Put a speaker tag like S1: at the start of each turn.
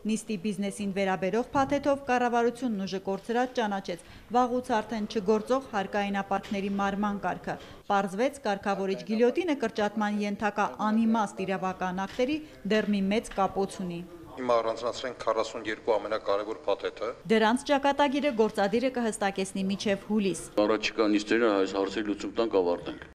S1: Նիստի բիզնեսին վերաբերող փաթեթով կառավարությունն ուժը կորցրած ճանաչեց վաղուց արդեն չգործող հարկայինապարտների մարման կարգը։ Պարզվեց կարգավորիչ գիլյոտինը կրճատման ենթակա անիմաստ իրավական ակտերի դեռ մի մեծ կապոց ունի։
S2: Հիմա առանձնացրենք 42 ամենակարևոր փաթեթը։
S1: Դրանց ճակատագիրը գործադիրը կհստակեցնի մինչև հուլիս։
S3: Առաջիկա նիստերին այս հարցերի լուծում տանք ավարտենք։